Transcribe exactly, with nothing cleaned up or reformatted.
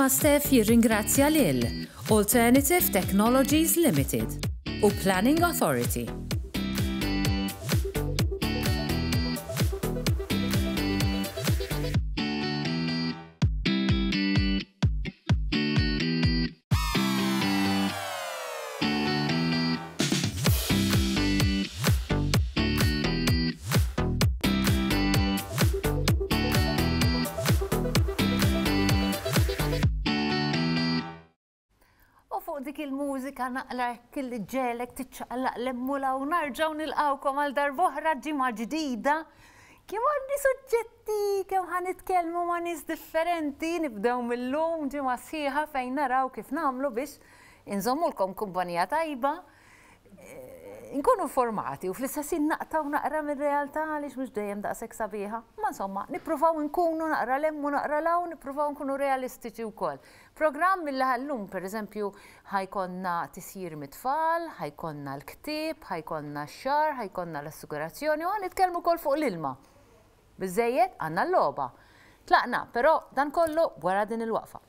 ma' Stef jirringrazzja lil Alternative Technologies Limited u Planning Authority. U fuq dik il-mużika naqra kelli ġelek tiċċaqlaq l-emmula u narġaw nilqawkom għal darb'oħra ġimgħa ġdida. Kemm għandi suġġetti, kemm ħa nitkellmu ma' nies differenti, nibdew mill-lum ġimgħa sħiħa fejn naraw kif nagħmlu biex inżommulkom kumpanija tajba, eh, nkunu informati u fl-istess ħin naqtaw naqra mir-realtà għaliex mhux dejjem daqshekk sabiħa. Ma insomma, nippruvaw nkunu naqra 'l hemm u naqra 'l hawn, nippruvaw nkunu realistiċi wkoll. Programm mill llum, per eżempju, ħa jkollna tisjir mit-tfal, ħa jkollna l-ktieb, ħa jkollna x-xagħar, ħa jkollna l-assigurazzjoni u ħa nitkellmu wkoll fuq l-ilma. Biżejjed għandna l-logħba. Tlaqna, però dan kollu wara din il-waqfa.